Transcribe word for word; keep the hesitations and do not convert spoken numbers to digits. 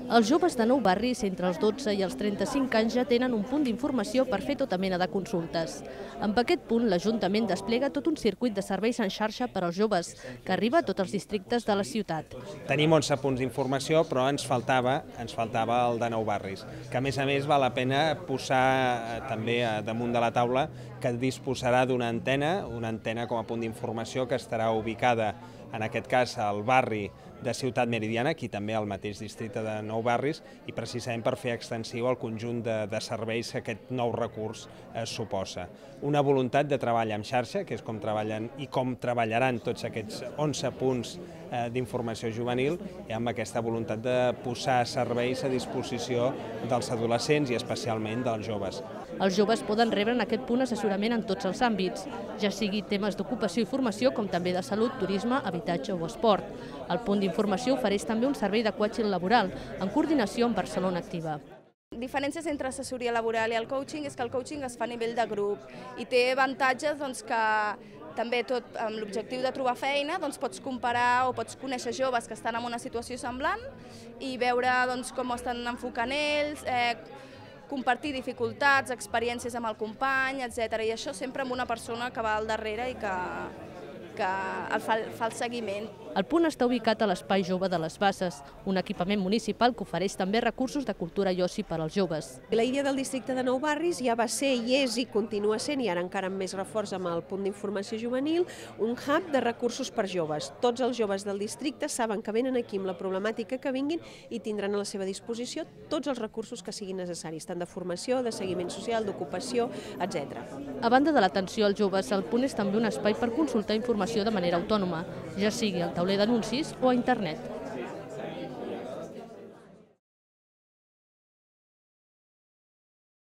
Els joves de Nou Barris, entre els dotze i els trenta-cinc anys, ja tenen un punt d'informació per fer tota mena de consultes. Amb aquest punt, l'Ajuntament desplega tot un circuit de serveis en xarxa per als joves, que arriba a tots els districtes de la ciutat. Tenim onze punts d'informació, però ens faltava, ens faltava el de Nou Barris, que a més a més val la pena posar també damunt de la taula que disposarà d'una antena, una antena com a punt d'informació que estarà ubicada, en aquest cas, al barri de Ciutat Meridiana, aquí també al mateix districte de Nou Barris, i precisament per fer extensiu el conjunt de, de serveis que aquest nou recurs eh, suposa. Una voluntat de treball en xarxa, que és com treballen i com treballaran tots aquests onze punts eh, d'informació juvenil, i amb aquesta voluntat de posar serveis a disposició dels adolescents i especialment dels joves. Els joves poden rebre en aquest punt assessorament en tots els àmbits, ja sigui temes d'ocupació i formació, com també de salut, turisme, habitatge o esport. El punt d'informació ofereix també un servei de coaching laboral, en coordinació amb Barcelona Activa. Diferències entre assessoria laboral i el coaching és que el coaching es fa a nivell de grup i té avantatges doncs, que també tot amb l'objectiu de trobar feina doncs, pots comparar o pots conèixer joves que estan en una situació semblant i veure doncs, com estan enfocant ells, eh, compartir dificultats, experiències amb el company, etcètera. I això sempre amb una persona que va al darrere i que, que el fa, fa el seguiment. El punt està ubicat a l'Espai Jove de les Basses, un equipament municipal que ofereix també recursos de cultura i oci per als joves. La idea del districte de Nou Barris ja va ser i és i continua sent, i ara encara amb més reforç amb el punt d'informació juvenil, un hub de recursos per joves. Tots els joves del districte saben que venen aquí amb la problemàtica que vinguin i tindran a la seva disposició tots els recursos que siguin necessaris, tant de formació, de seguiment social, d'ocupació, etcètera. A banda de l'atenció als joves, el punt és també un espai per consultar informació de manera autònoma, ja sigui al tauler d'anuncis o a internet.